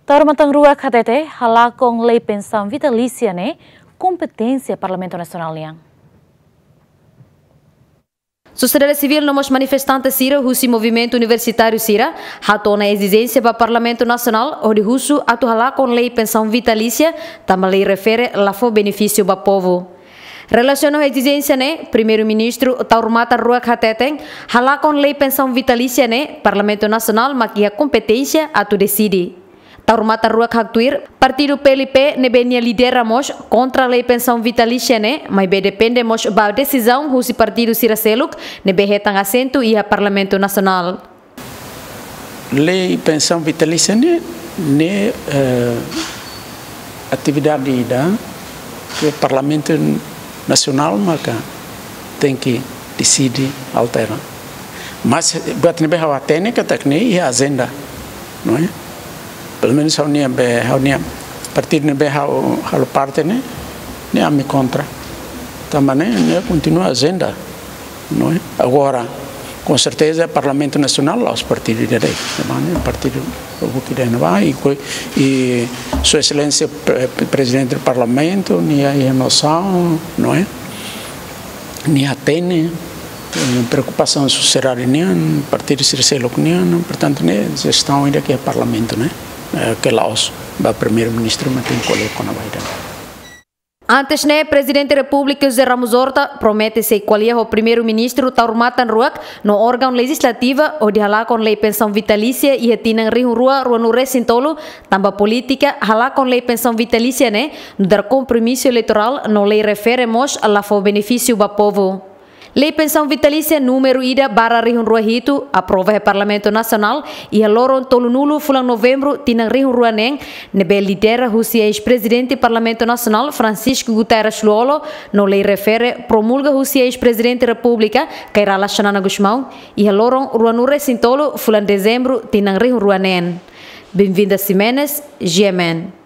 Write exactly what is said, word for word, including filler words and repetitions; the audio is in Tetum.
Taur matan ruak hatete, halakon lei pensaun vitalísia ne'e kompeténsia Parlamentu Nasionál nian. Sosiedade sivíl no mós manifestante sira husi movimentu universitáriu sira hato'o ona ezijénsia ba Parlamentu Nasionál hodi husu atu halakon lei pensaun vitalísia, tanba lei refere la fó benefísiu ba povu. Relasiona ho ezijénsia ne'e, Primeiru-Ministru Taur Matan Ruak hateten, halakon lei pensaun vitalísia ne'e, Parlamentu Nasionál mak iha kompeténsia atu deside. Taur Matan Ruak haktuir, partidu P L P ne'ebé nia lidera mós kontra lei pensaun vitalísia ne'e, maibé depende mós ba desizaun husi partidu sira seluk ne'ebé hetan asentu iha Parlamentu Nasionál. Lei pensaun vitalísia ne'e, ne'e, eh, atividade ida ke Parlamentu Nasionál maka tenke deside, altera. Mas buat ne'ebé ha'u hatene katak ne'e iha ajenda, não é? Pelumenus ha'u-nia be, ha'u-nia partidu ne'ebé ha'u halo parte ne'e, ne'e ami kontra. Tanba ne'e, ne'e kontinua ajenda, não é? Agora, com certeza, Parlamentu Nasionál la'ós partidu ida de'it, tanba ne'e partidu buki ida ne'ebá, i ko-, i Sua Exelénsia Pre-, Prezidente do Parlamentu, nia, nia nosaun, não é? Nia hatene, eh, preokupasaun sosiedade nian, partidu sira seluk nian, portantu, ne'e jestaun ida ke Parlamentu, ne'e? Eh, ke la'ós ba Primeiru-Ministru mak tenke ko'alia kona-ba ida. Antes ne'e, Prezidente Repúblika José Ramos Horta promete sei ko'alia ho Primeiru-Ministru Taur Matan Ruak no órgaun lejizlativa hodi halakon lei pensaun vitalísia iha tinan rihun rua ruanulu resin tolu, tanba polítika halakon lei pensaun vitalísia ne'e nu'udar kompromisu eleitorál no lei refere mós la fó benefísiu ba povu. Lei pensaun vitalísia númeru ida barra rihun rua hitu, aprova iha Parlamentu Nasionál iha loron tolunulu fulan Novembru tinan rihun rua neen, ne'ebé lidera husi eis-Prezidente Parlamentu Nasionál Francisco Guterres Lú-Olo, no lei refere promulga husi eis-Prezidente Repúblika Kay Rala Xanana Gusmão iha loron ruanulu resin tolu fulan Dezembru tinan rihun rua neen. Benvinda Ximenes, G M N.